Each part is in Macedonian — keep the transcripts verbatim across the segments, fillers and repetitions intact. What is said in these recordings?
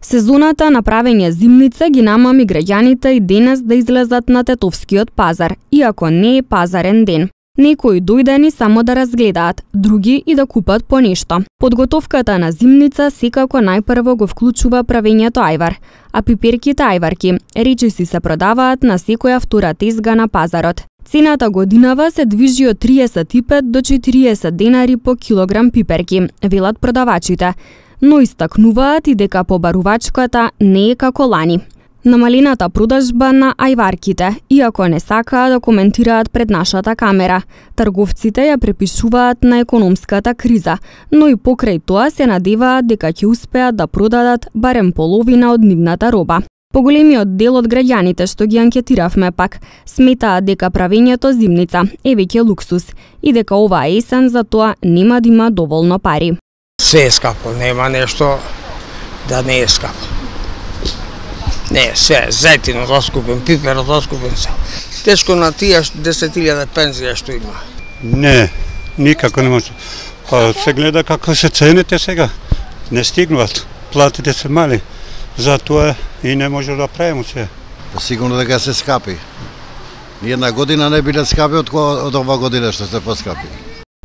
Сезоната на правење зимница ги намами граѓаните и денес да излезат на Тетовскиот пазар, иако не е пазарен ден. Некои дојдени само да разгледаат, други и да купат по нешто. Подготовката на зимница секако најпрво го вклучува правењето ајвар, а пиперките ајварки речиси се продаваат на секоја втора тезга на пазарот. Цената годинава се движи од триесет и пет до четириесет денари по килограм пиперки, велат продавачите, но истакнуваат и дека побарувачката не е како лани. Намалената продажба на ајварките, иако не сакаа да коментираат пред нашата камера. Трговците ја препишуваат на економската криза, но и покрај тоа се надеваат дека ќе успеат да продадат барем половина од нивната роба. Поголемиот дел од граѓаните што ги анкетиравме пак сметаат дека правењето зимница е веќе луксус и дека оваа есен за тоа нема да има доволно пари. Се е скапо, нема нешто да не е скапо. Не, се, зетинот оскупен, пиперот оскупен се. Тешко на тие десет илјади пензија што има. Не, никако не може. Па се гледа како се цените сега. Не стигнуваат, платите се мали. Затоа и не може да правиме се. Сигурно дека се скапи. Ни една година не биле скапи од, од ова година што се поскапи.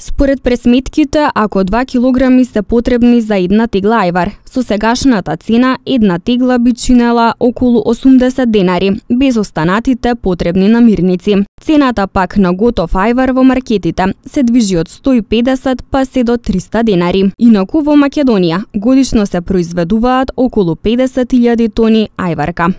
Според пресметките, ако два килограми се потребни за една тегла ајвар, со сегашната цена една тегла би чинела околу осумдесет денари, без останатите потребни намирници. Цената пак на готов ајвар во маркетите се движи од сто и педесет па се до триста денари. Инаку во Македонија годишно се произведуваат околу педесет илјади тони ајварка.